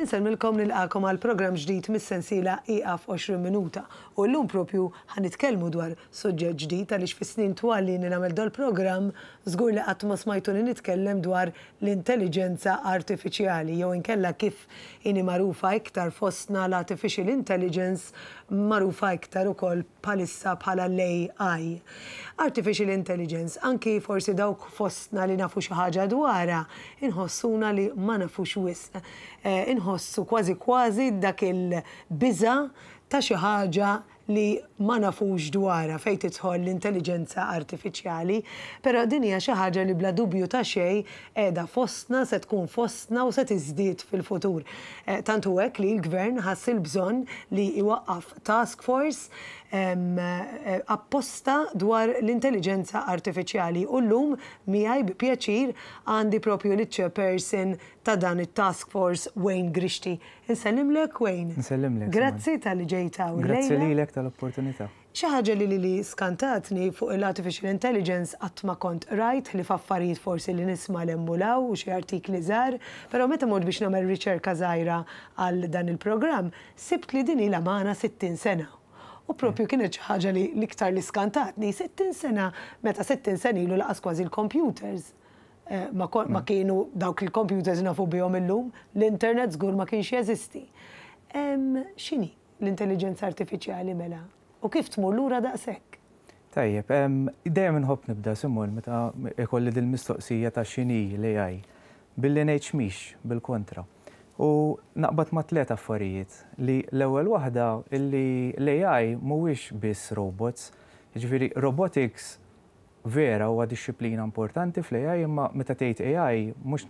Insellmilkom nilqagħkom għal programm ġdid mis-sensiela Ieqaf 20 Minuta. U llum propju ħa nitkellmu dwar suġġett ġdid għaliex fis-snin twal li ili nagħmel dal-programm żgur li qatt ma smajtuni nitkellem dwar l-intelliġenza artifiċjali jew inkella kif inhi magħrufa iktar fostna l-artificial intelligence magħrufa iktar ukoll bħalissa bħala l-AI. Artificial Intelligence, anki forsi dawk fostna li nafu xi ħaġa dwarha, inħossuna li ma nafux wisq. Inħossu kważi kważi dak il-biża' ta' xi ħaġa li ma nafux dwarha fejn tidħol l-intelliġenza artifiċjali. Però din hija xi ħaġa li bla dubju ta' xejn qiegħda fostna, se tkun fostna u se tiżdied fil-futur. Tant hu hekk li l-Gvern ħass il-bżonn li jwaqqaf task force apposta dwar l-intelliġenza artifiċjali u llum miegħi bi pjaċir għandi propju liċ-chairperson ta' dan it-task force Wayne Grixti. Insellimlek Wayne. Insellimlek. Grazzi talli ġejt hawn illejla. Grazzi lilek tal-opportunità. Xi ħaġa li lili skantatni fuq il-artificial intelligence qatt ma kont qrajt ħlief affarijiet forsi li nisma' 'l hemm u 'l hawn u xi artikli żgħar, però meta mort biex nagħmel riċerka żgħira għal dan il-programm, sibt li din ilha magħna 60 sena. U propju kienet xi ħaġa li l-iktar li skantatni, 60 sena, meta 60 sena ilu laqas kważi l-computers ma ma kienu dawk il-computers nafu bihom illum, l-internet żgur ma kienx jeżisti. X'inhi l-intelliġenza artifiċjali mela? U kif tmur lura daqshekk? Tajjeb, dejjem inħobb nibda, Simon, meta ikolli dil-mistoqsija ta' x'inhi l-AI, billi ngħid x'mhix, bil-kontra. U naqbad ma' tliet affarijiet, li l-ewwel waħda illi l-AI mhuwiex biss robots, jiġifieri robotics vera huwa dixxiplina importanti fl-AI imma meta tgħid AI mhux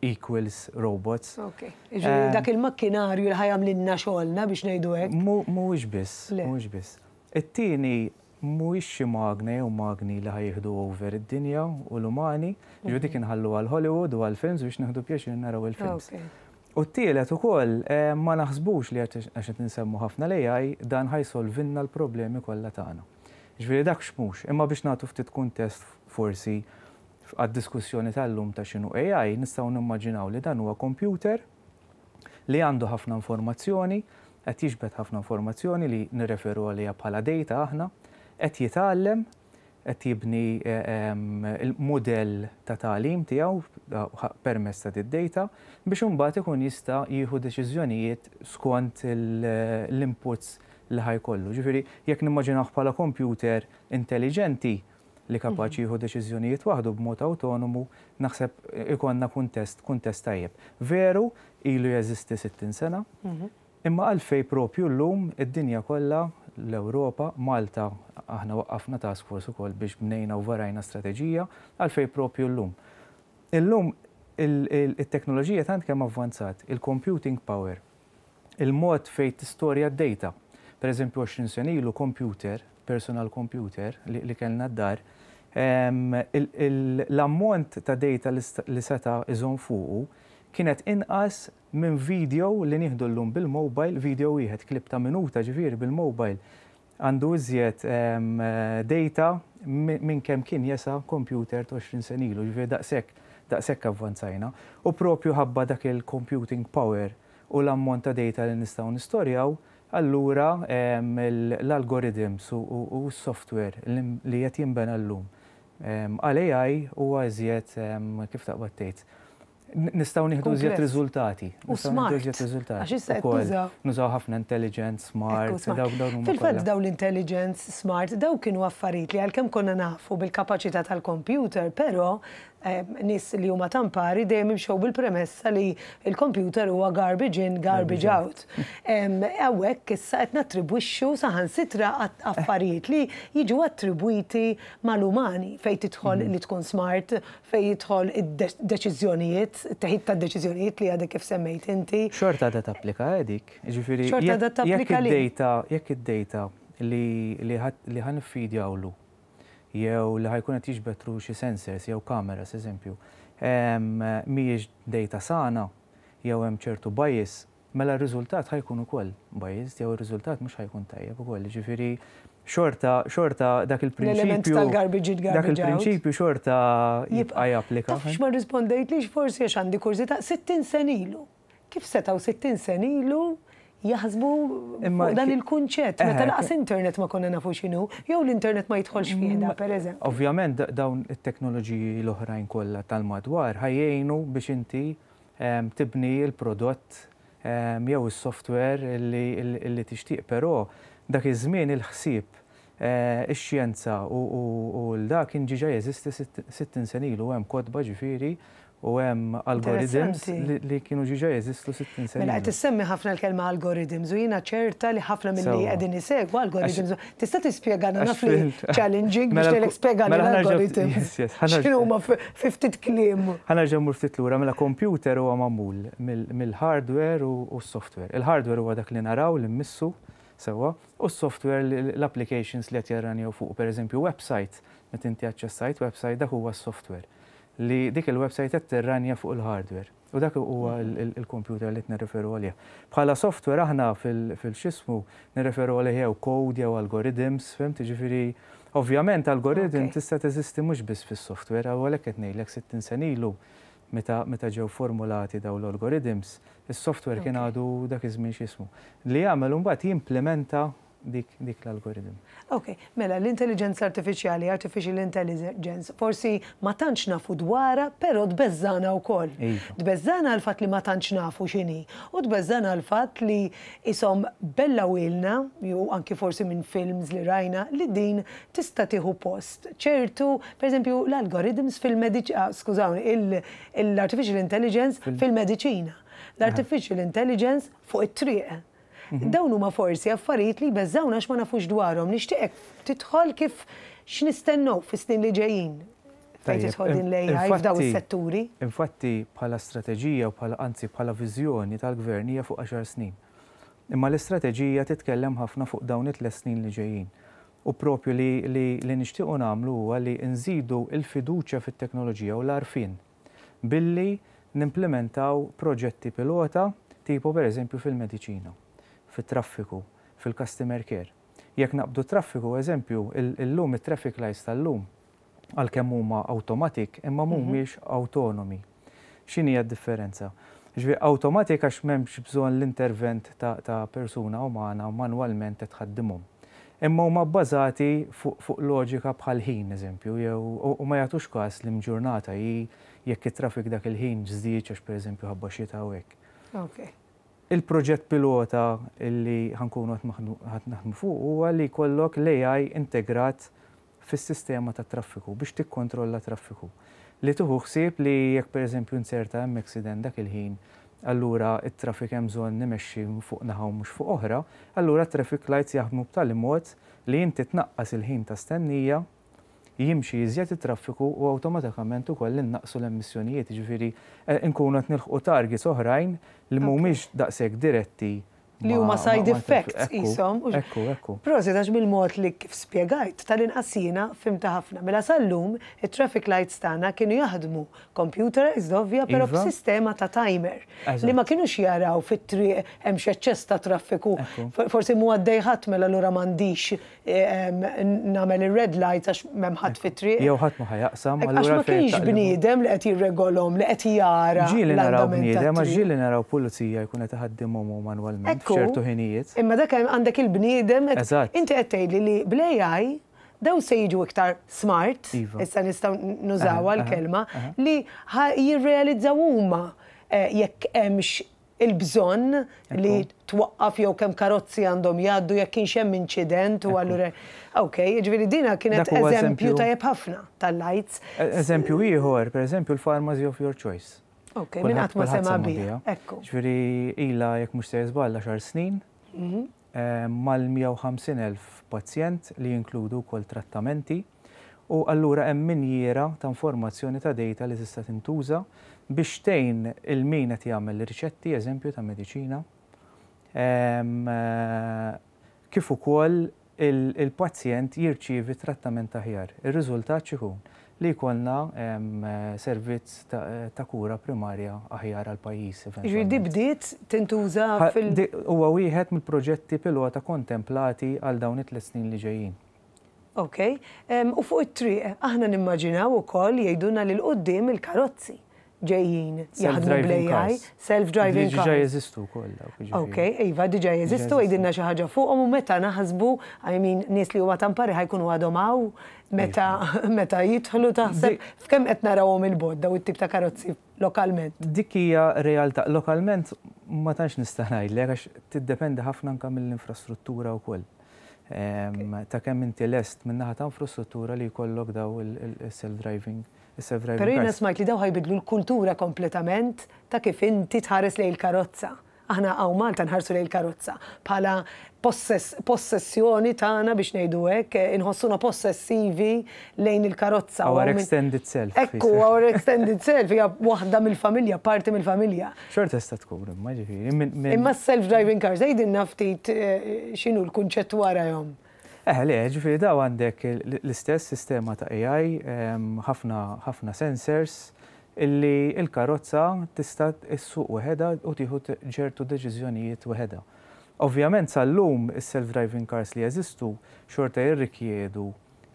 equals robots. Ok. Jiġifieri dak il-makkinarju li ħa jagħmlilna xogħolna biex ngħidu hekk. Mhuwiex biss, mhuwiex biss. It-tieni mhuwiex xi magna jew magni li ħa jieħdu over id-dinja u l-umani, jiġifieri dik inħalluha għal Hollywood u għall-films biex nieħdu pjaċir naraw il-films. U t-tielet ukoll ma naħsbux li għax qed insemmu ħafna l-AI dan ħa jsolvilna l-problemi kollha tagħna. Jiġifieri dak x'mhux, imma biex nagħtu ftit kuntest forsi Għad-diskussjoni tal-lum ta' x'inhu AI, nistgħu nimmaġinaw li dan huwa kompjuter li għandu ħafna informazzjoni, qed jiġbed ħafna informazzjoni li nirreferu għaliha bħala data aħna, qed jitgħallem, qed jibni l-mudell ta' tagħlim tiegħu permezz ta' did-data biex imbagħad ikun jista' jieħu deċiżjonijiet skont l-inputs li ħa jkollu. Ġifieri jekk nimmaġinawh bħala kompjuter intelliġenti, li kapaċi jieħu deċiżjonijiet waħdu b'mod awtonomu, naħseb ikollna kuntest, kuntest tajjeb. Veru, ilu jeżisti 60 sena, imma għalfejn propju llum id-dinja kollha, l-Ewropa, Malta, aħna waqqafna task force ukoll biex bnejna u varajna strateġija, għalfejn propju llum. Illum it-teknoloġija tant kemm avvanzat, il-computing power, il-mod fejn tistorja d-data. Per eżempju 20 sena ilu computer, personal computer li kellna d-dar, l-ammont ta' data li seta' iżomm fuqu kienet inqas minn video li nieħdu llum bil-mobile, video wieħed, clip ta' minuta ġifieri bil-mobile, għandu iżjed data minn kemm kien jesa' computer ta' 20 sena ilu, jiġifieri daqshekk, daqshekk avvanzajna. U propju ħabba dak il-computing power u l-ammont ta' data li nistgħu nistorjaw, allura l-algorithms u s-software li qed jinbena llum għal AI huwa iżjed, kif taqbad tgħid, Nistgħu nieħdu iżjed riżultati. U smart. Għax issa qed nużaw. Nużaw ħafna intelligence, smart. Fil-fatt dawn l-intelligence, smart, dawn kienu affarijiet li għalkemm konna nafu bil-kapaċità tal-computer, però nies li huma tampari dejjem imxew bil-premessa li l-computer huwa garbage in, garbage out. Hawnhekk issa qed nattribwixxu saħansitra affarijiet li jiġu attribwiti mal-umani fejn tidħol li tkun smart, Fejn jidħol id-deċiżjonijiet, it-teħid tad-deċiżjonijiet li għadek kif semmejt inti. Xorta għadha tapplika, eh, dik. Jiġifieri Xorta għadha tapplika li. Jekk id-data li ħa niffidjawlu jew li ħa jkun qed jiġbed through xi sensors jew cameras, eżempju, mhijiex data sana jew hemm ċertu bias, mela r-riżultat ħa jkun ukoll biased jew ir-riżultat mhux ħa jkun tajjeb ukoll. Jiġifieri xorta xorta dak il-prinċipju. L-element tal-garbage in, garbage out. Dak il-prinċipju xorta jibqa' japplika. Taf x'ma rrispondejtlix forsi għax għandi kurżità, 60 sena ilu. Kif setgħu 60 sena ilu jaħsbu fuq dan il-kunċett meta lanqas internet ma konna nafu x'inhu, jew l-internet ma jidħolx fih da, pereżempju. Ovvjament dawn it-teknoloġiji l-oħrajn kollha tal-madwar ħa jgħinu biex inti tibni l-prodott jew is-software li tixtieq, però dak iż-żmien il-ħsieb, ix-xjenza u l-dak kien ġiġa jeżisti 60 sena ilu, hemm kotba ġifieri u hemm algorithms li kienu ġiġa jeżistu 60 sena. Mela qed issemmi ħafna l-kelma algorithms u jiena ċerta li ħafna milli qegħdin isegwu algorithms. Tista' tispjegana, naf li challenging biex tgħidlek spjegani l-algorithms. X'inhuma fi ftit kliem? Ħa nerġa' mmur ftit lura, mela computer huwa magħmul mill-hardware u s-software. Il-hardware huwa dak li naraw, li mmissu, sewwa, u s-software l-applications li qed jarranjaw fuq, pereżempju website, meta inti aċċessajt website dak huwa s-software li dik il-website qed tirranja fuq il-hardware. U dak huwa il-computer li qed nirreferu għalih. Bħala software aħna fil-xismu nirreferu għalih jew code jew algorithms, fhimt? Ġifieri, ovvjament algorithm tista' teżisti mhux biss fis-software, għalhekk qed ngħidlek 60 sena ilu meta ġew formulati dawn l-algorithms, is-software kien għadu dak iż-żmien x'ismu. Li jagħmel imbagħad jimplementa dik l-algoritm. Ok, mela l-intelligenza artifiċjali, artificial intelligence, forsi ma tantx nafu dwarha, però tbeżżana wkoll. Tbeżżana l-fatt li ma tantx nafu x'inhi, u tbeżżana l-fatt li isom bella wilna, jew anki forsi minn films li rajna, li din tista' tieħu post. ċertu, per eżempju, l-algorithms fil-mediċina, skużawni, l-artificial intelligence fil-mediċina, l-artificial intelligence fuq it-triq. Dawn huma forsi affarijiet li jbeżżawna għax ma nafux dwarhom. Nixtieqek tidħol kif x'nistennew fis-snin li ġejjin fejn tidħol din l-AI f'daw is-setturi. Infatti bħala strateġija u bħala, anzi bħala viżjoni tal-gvern hija fuq 10 snin. Imma l-istrateġija titkellem ħafna fuq dawn it-3 snin li ġejjin. U propju li nixtiequ nagħmlu huwa li nżidu l-fiduċja fit-teknoloġija u l-għarfien billi nimplementaw proġetti pilota tipo per eżempju fil-mediċina, fit-traffiku, fil-customer care. Jekk naqbdu traffiku, eżempju, illum it-traffic lights tal-lum għalkemm huma automatic imma mhumiex autonomi. X'inhi d-differenza? Ġifieri automatic għax m'hemmx bżonn l-intervent ta' persuna umana manwalment tħaddimhom. Imma huma bbażati fuq loġika bħal ħin, eżempju, jew u ma jagħtux każ li mġurnata hi jekk it-traffic dak il-ħin żdied għax pereżempju ħabba xita u hekk. Il-proġett pilota illi ħa nkunu qed naħdmu fuq huwa li jkollok l-AI integrat fis-sistema tat traffiku biex tikkontrolla traffiku. Li tieħu ħsieb li jekk pereżempju inserta hemm accident dak il-ħin, allura it-traffic hemm bżonn nimexxi fuq naħa u mhux fuq oħra, allura traffic lights jaħdmu b'tali mod li inti tnaqqas il-ħin ta' stennija, jimxi iżjed it-traffiku u awtomatikament ukoll innaqsu l-emissjonijiet, ġifieri nkunu qed nilħqu targets oħrajn li mhumiex daqshekk diretti li huma side effects isom. Ekku, ekku. Prosit għax bil-mod li kif spjegajt tal-inqas jiena fhimtha ħafna. Mela sal-lum it-traffic lights tagħna kienu jaħdmu computerized ovvja, però b'sistema ta' timer. Li ma kienux jaraw fit-triq hemm x'eċċess ta' traffiku. Forsi mhu għaddej ħadd, mela allura m'għandix nagħmel ir-red lights għax m'hemm ħadd fit-triq. Jew ħadd ma ħa jaqsam. Għax ma kienx bniedem li qed jirregolhom, li qed jara. Ġieli naraw bniedem, għax ġieli naraw pulizija jkun qed iħaddimhom manwalment f'ċertu ħinijiet. Imma dak għandek il-bniedem, inti qed tgħidli li bl-AI daw se jiġu iktar smart, issa nistgħu nużawha l-kelma, li jirrealizzaw huma jekk hemmx il-bżonn li twaqqaf jew kemm karozzi għandhom jgħaddu jekk kienx hemm inċident u allura. Ok, jiġifieri dina kienet eżempju tajjeb ħafna tal-lights. Eżempju ieħor, pereżempju l-pharmacy of your choice. Ok, minn qatt ma sema biha. Ekku. Ġifieri ilha, jekk mhux se żball, 10 snin mal-150,000 pazjent li jinkludu wkoll trattamenti u allura hemm minjiera ta' informazzjoni ta' data li tista' tintuża biex tgħin il min qed jagħmel riċetti, eżempju, ta' mediċina, kif ukoll il-pazjent jirċievi trattament aħjar. Ir-riżultat x'ikun? Li jkollna servizz ta' kura primarja aħjar għal pajjiż. Ġifieri di bdiet tintuża fil- Huwa wieħed mill-proġetti pilota kontemplati għal dawn it-3 snin li ġejjin. Ok, u fuq it-triq, aħna nimmaġinaw ukoll jgħidulna li l-qoddim il-karozzi. ġejjin jaħdmu bl-AI, self-driving cars. Diġà jeżistu wkoll dawk. Ok, iva, diġà jeżistu, għidilna xi ħaġa fuqhom u meta naħsbu, I mean, nies li huma tampari ħa jkunu għadhom hawn, meta meta jidħlu taħseb f'kemm qed narawhom il-bogħod daw it-tip ta' karozzi lokalment? Dik hija realtà. Lokalment ma tantx nista' ngħidlek għax tiddependi ħafna anke mill-infrastruttura wkoll. Ta' kemm inti lest min-naħa ta' infrastruttura li jkollok daw il-self-driving is-self-driving Però jiena cars. smajt li daw ħa jbiddlu l-kultura kompletament ta' kif inti tħares lejn il-karozza. Aħna hawn Malta nħarsu lejn il-karozza bħala possessjoni tagħna biex ngħidu hekk, inħossuna possessivi lejn il-karozza. Our extended self. Ekku, our extended self hija waħda mill-familja, parti mill-familja. Xorta tista' tkun imma ġifieri. Imma self-driving cars, għidilna ftit x'inhu l-kunċett warahom. Eh, le, ġifieri daw għandek l-istess sistema ta' AI, ħafna ħafna sensors, illi il-karozza tista' issuq weħedha u tieħu ċertu deċiżjonijiet weħedha. Ovvjament sal-lum is-self-driving cars li jeżistu xorta jirrikjedu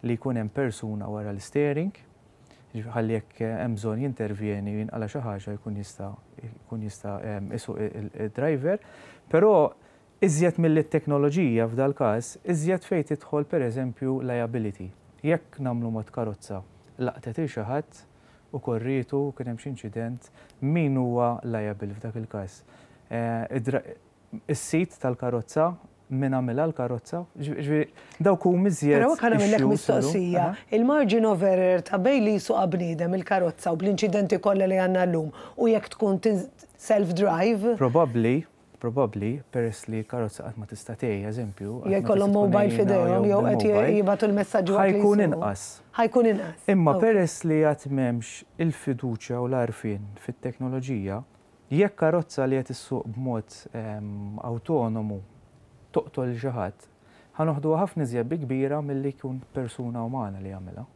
li jkun hemm persuna wara l-steering, ħalli jekk hemm bżonn jintervjeni u jinqala xi ħaġa jkun jista' isuq il-driver, però iżjed mill-teknoloġija f'dal każ, iżjed fejn tidħol pereżempju liability. Jekk nagħmlu mod karozza laqtet il xi ħadd u korritu kien hemm xi inċident, min huwa liable f'dak il-każ? Is-sid tal-karozza, min għamilha l-karozza, ġifieri dawk huma iżjed. Però kan għamillek mistoqsija, il-margin of error ta' bejn li jsuqa bniedem il-karozza u bl-inċidenti kollha li għandna llum u jekk tkun self-drive. Probably, peress li karozza qatt ma tista' tgħi, eżempju. Jew jkollhom mobile f'idejhom jew qed jibgħatu l-messaġġi Ħa jkun inqas. Ħa jkun inqas. Imma peress li għad m'hemmx il-fiduċja u l-għarfien fit-teknoloġija, jekk karozza li qed issuq b'mod autonomu toqtol xi ħadd, ħa noħduha ħafna iżjed bi kbira milli jkun persuna umana li jagħmilha.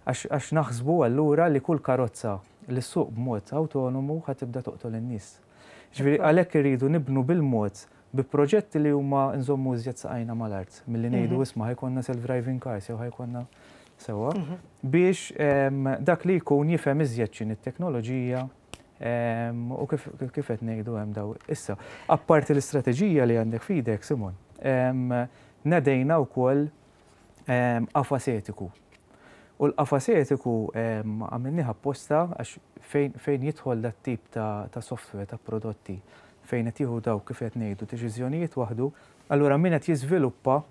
Għax naħsbu allura li kull karozza li ssuq b'mod autonomu ħa tibda toqtol in-nies. Ġifieri għalhekk irridu nibnu bil-mod bi proġetti li huma nżommu iżjed saqajna mal-art milli ngħidu isma' ħa jkollna self-driving cars jew ħa jkollna sewwa biex dak li jkun jifhem iżjed x'inhi t-teknoloġija u kif qed ngħidu hemm daw. Issa, apparti l-istrateġija li għandek f'idek, Simon, nedejna wkoll qafas etiku. U l-qafas etiku għamilnieh apposta għax fejn jidħol dat tip ta' software, ta' prodotti, fejn qed jieħu daw kif qed ngħidu deċiżjonijiet waħdu, allura min qed jiżviluppa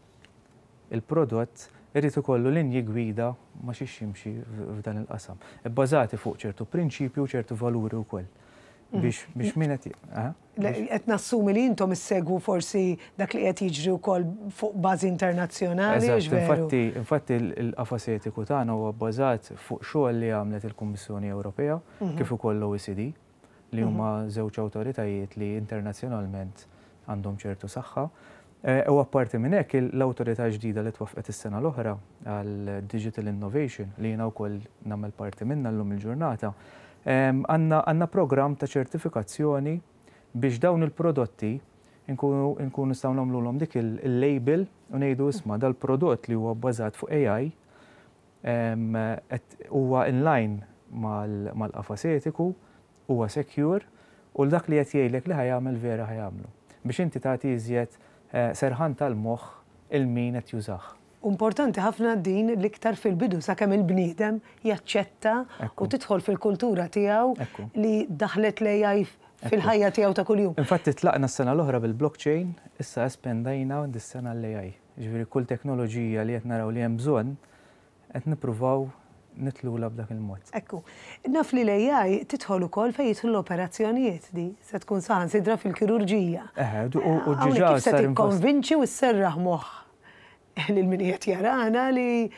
il-prodott irid ikollu linji gwida ma xiex jimxi f'dan il-qasam. Bbażati fuq ċertu prinċipju u ċertu valuri wkoll. Biex min qed Qed nassumi li intom issegwu forsi dak li qed jiġri wkoll fuq bażi internazzjonali. Infatti il-qafas etiku tagħna huwa bbażat fuq xogħol li għamlet il-Kummissjoni Ewropea kif ukoll l-OECD li huma żewġ awtoritajiet li internazzjonalment għandhom ċertu saħħa. U apparti minn hekk l-awtorità ġdida li twaffqet is-sena l-oħra għal Digital Innovation li jiena wkoll nagħmel parti minnha llum il-ġurnata, għandna programm ta' ċertifikazzjoni biex dawn il-prodotti nkunu nistgħu nagħmluhom dik il-label u ngħidu isma' dal-prodott li huwa bbażat fuq AI huwa in line mal-qafas etiku, huwa secure u dak li qed jgħidlek li ħa jagħmel vera ħa jagħmlu. Biex inti tagħti iżjed serħan tal-moħħ lil min qed jużah. Importanti ħafna din l-iktar fil-bidu sakemm il-bniedem jaċċetta u tidħol fil-kultura tiegħu li daħlet l-AI fil-ħajja tiegħu ta' kuljum. Infatti tlaqna s-sena l-oħra bil-blockchain, issa espandajna dis-sena l-AI. Ġifieri kull teknoloġija li qed naraw li hemm bżonn qed nippruvaw nitilgħulha b'dak il-mod. Ekku, naf li l-AI tidħol ukoll fejn jidħlu l-operazzjonijiet di, se tkun saħansitra fil-kirurġija. Eh, u diġà kif se tikkonvinċi u sserraħ moħħ lil min qed jarana li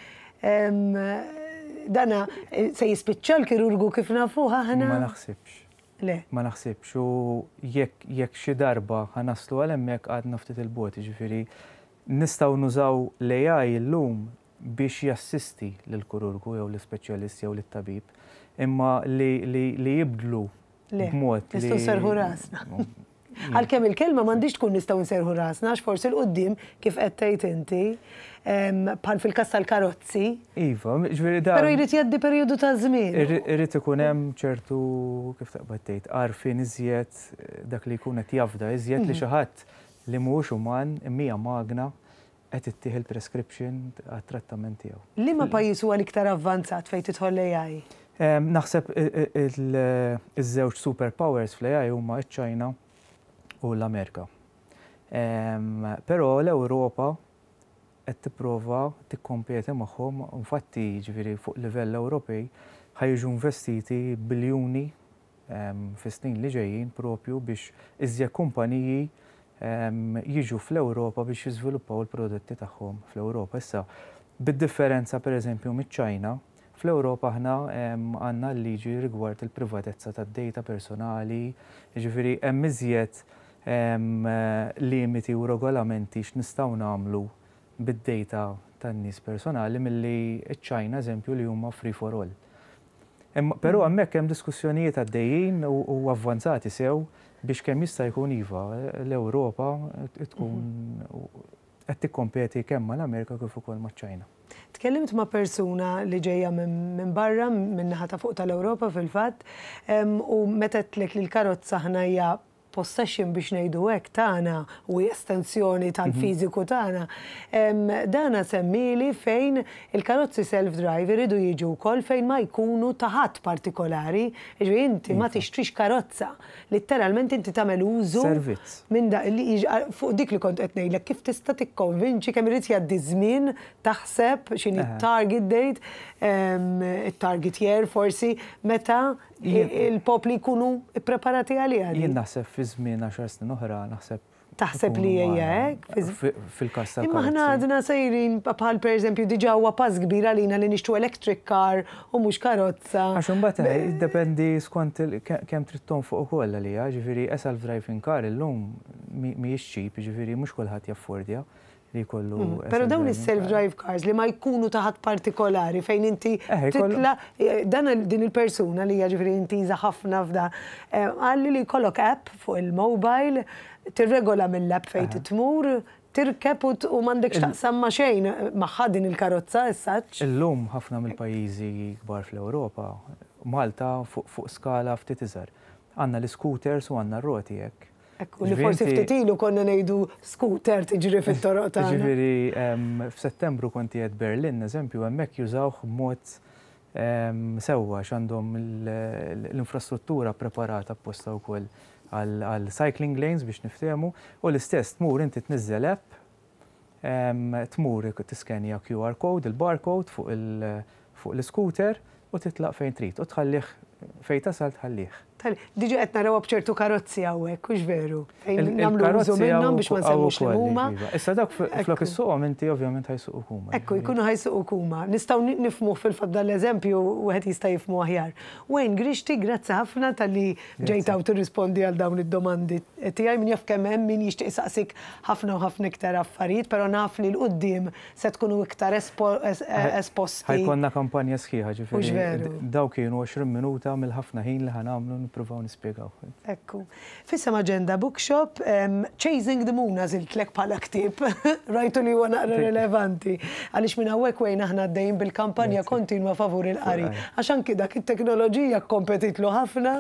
dana se jispiċċa l-kirurgu kif nafuh aħna? Ma naħsibx. Le. Ma naħsibx u jekk xi darba ħa naslu għal hemmhekk għadna ftit il-bogħod, ġifieri nistgħu nużaw l-AI illum biex jassisti lill-kirurgu jew l-ispeċjalist jew lit-tabib, imma li jibdlu Le, b'mod li. Nistgħu nserrħu rasna. Għalkemm il-kelma m'għandhiex tkun nistgħu nserrħu rasna għax forsi 'l quddiem kif qed tgħid inti, bħal fil-każ tal-karozzi. Iva, ġifieri dan. Però jrid jgħaddi perjodu ta' żmien. Irid ikun hemm ċertu, kif taqbad tgħid, għarfien iżjed, dak li jkun qed jafda iżjed li xi ħadd li mhuwiex uman imma hija magna qed ittih il-prescription għat-trattament tiegħu. Liema pajjiż huwa l-iktar avvanzat fejn tidħol l-AI? Naħseb iż-żewġ super powers fl-AI huma ċ-Ċina u l-Amerika. Però l-Ewropa qed tipprova tikkompeti magħhom, infatti jiġifieri fuq livell Ewropej ħa jiġu investiti biljuni fis-snin li ġejjin propju biex iżjed kumpaniji jiġu fl-Ewropa biex jiżviluppaw il-prodotti tagħhom fl-Ewropa. Issa, bid-differenza pereżempju miċ-Ċina, fl-Ewropa aħna għandna l-liġi rigward il-privatezza tad-data personali, jiġifieri hemm iżjed limiti u regolamenti x'nistgħu nagħmlu bid-data tan-nies personali milli ċ-Ċina eżempju li huma free for all. Però hemmhekk hemm diskussjonijiet għaddejjin u avvanzati sew biex kemm jista' jkun iva l-Ewropa tkun qed tikkompeti kemm mal-Amerika kif ukoll maċ-Ċina. Tkellimt ma' persuna li ġejja minn barra, min-naħa ta' fuq tal-Ewropa fil-fatt, u meta għedtlek li l-karozza aħna hija possession biex ngħidu hekk tagħna u hi estensjoni tal-fiżiku tagħna, dana semmieli fejn il-karozzi self-drive iridu jiġu wkoll fejn ma jkunu ta' ħadd partikolari, jiġifieri inti ma tixtrix karozza, litteralment inti tagħmel użu minn da li fuq dik li kont qed ngħidlek kif tista' tikkonvinċi kemm irid jgħaddi żmien taħseb x'inhi t-target date, it-target year forsi meta il-popli jkunu ppreparati għaliha din. Jien naħseb fi żmien għaxar snin oħra naħseb. Taħseb li hija hekk? Fil-każ tal. Imma aħna għadna sejrin bħal pereżempju diġà huwa pass kbir għalina li nixtru electric car u mhux karozza. Għax imbagħad jiddependi skont kemm trid tonfoq ukoll għaliha, ġifieri a self-driving car illum mhijiex cheap, ġifieri mhux kulħadd jaffordja li jkollu. Mhm. Però dawn is-self-drive cars li ma jkunu ta' ħadd partikolari fejn inti eh, titla eh, dan din il-persuna li hija ġifieri intiża ħafna f'da eh, qalli li jkollok app fuq il-mobile tirregola mill-app fejn titmur tirkeb u m'għandekx taqsam ma' xejn magħha din il-karozza essaċ. Illum ħafna mill-pajjiżi kbar fl-Ewropa, Malta fuq skala ftit iżgħar. Għandna l-iscooters u għandna r-roti hekk. Ekku, li forsi ftit ilu konna ngħidu scooter tiġri fit-toroq tagħna. Ġifieri f'Settembru kont qiegħed Berlin, eżempju, hemmhekk jużawh b'mod sewwa għax għandhom l-infrastruttura preparata apposta wkoll għal cycling lanes biex niftehmu u l-istess tmur inti tniżżel app Tmur tiskenja QR code, il-barcode fuq l-iscooter u titlaq fejn trid u tħallih fejn tasal tħallih. Diġà qed narawha b'ċertu karozzi hawnhekk, hux veru? Fejn nagħmlu użu minnhom biex ma nsemmux li huma. Iva. Issa dawk flok issuqhom inti ovvjament ħa jsuquk huma. Ekku, jkunu ħa jsuquk huma. Nistgħu nifhmuh fil-fatt dan l-eżempju wieħed jista' jifhmu aħjar. Wayne Grixti, grazzi ħafna talli ġejt hawn tirrispondi għal dawn id-domandi tiegħi. Min jaf kemm hemm min jixtieq isaqsik ħafna u ħafna iktar affarijiet, però naf li 'l quddiem se tkunu iktar esposti. Ħa jkollna kampanja sħiħa, ġifieri dawn kienu 20 minuta mill-ħafna ħin li ħa nagħmlu nippruvaw nispjegaw. Ekku. F'isem Agenda Bookshop, Chasing the Moon għażiltlek bħala ktieb. Rajtu li huwa naqra rilevanti. Għaliex minn hawnhekk Wayne aħna għaddejjin bil-kampanja kontinwa favur il-qari. Għax anki dak it-teknoloġija kkompetitlu ħafna.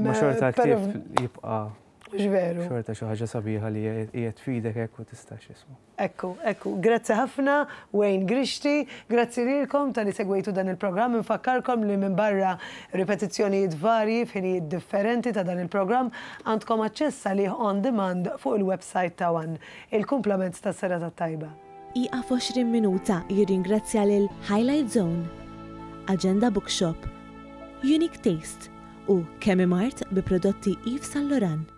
Ma xorta l-ktieb jibqa' Mhux veru. Xorta xi ħaġa sabiħa li qiegħed f'idek hekk u tista' x'ismu. Ekku, ekku. Grazzi ħafna Wayne Grixti, grazzi lilkom talli segwejtu dan il-programm. Infakkarkom li minbarra ripetizzjonijiet varji f'ħinijiet differenti ta' dan il-programm, għandkom aċċess għalih on demand fuq il-website ta' one. Il-kumplament tas-serata t-tajba. Ieqaf 20 Minuta jirringrazzja lil Highlight Zone, Agenda Bookshop, Unique Taste u Chemimart bi prodotti Yves Saint Laurent.